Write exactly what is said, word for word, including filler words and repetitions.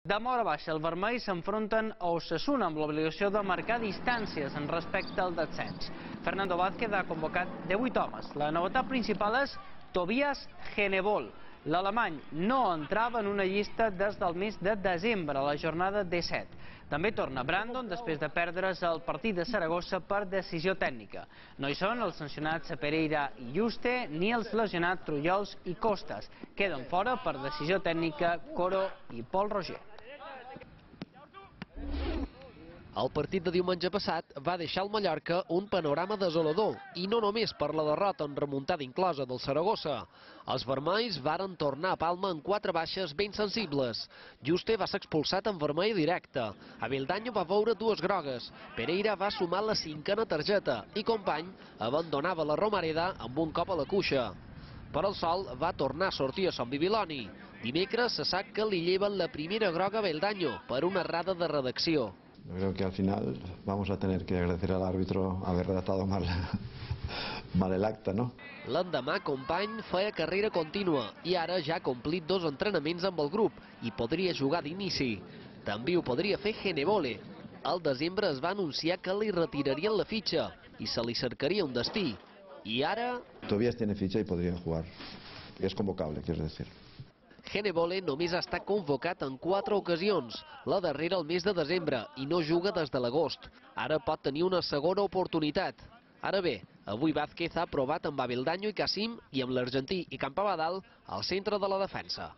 De mora baixa, el vermell s'enfronten a Osasuna amb l'obligació de marcar distàncies en respecte al descens. Fernando Vázquez ha convocat divuit homes. La novetat principal és Tobias Genebol. L'alemany no entrava en una llista des del mes de desembre, a la jornada disset. També torna Brandon després de perdre's el partit de Saragossa per decisió tècnica. No hi són els sancionats Pereira i Juste, ni els lesionats Trullols i Costas. Queden fora per decisió tècnica Coro i Pol Roger. El partit de diumenge passat va deixar al Mallorca un panorama desolador, i no només per la derrota en remuntada inclosa del Saragossa. Els vermells varen tornar a Palma amb quatre baixes ben sensibles. Juste va ser expulsat en vermell directe. Aveldaño va veure dues grogues. Pereira va sumar la cinquena targeta i Company abandonava la Romareda amb un cop a la cuixa. Per al sol va tornar a sortir a Sant Bibiloni. Dimecres se sap que li lleven la primera groga a Aveldaño per una errada de redacció. Yo creo que al final vamos a tener que agradecer al árbitro haber redactado mal, mal el acta, ¿no? L'endemà, Company feia carrera contínua i ara ja ha complit dos entrenaments amb el grup i podria jugar d'inici. També ho podria fer Genebole. Al desembre es va anunciar que li retirarien la fitxa i se li cercaria un destí. I ara... Tobias tiene ficha y podría jugar. Es convocable, quiero decir. Genebole només ha estat convocat en quatre ocasions, la darrera el mes de desembre, i no juga des de l'agost. Ara pot tenir una segona oportunitat. Ara bé, avui Vázquez ha provat amb Aveldaño i Cassim i amb l'argentí i Campabadal al centre de la defensa.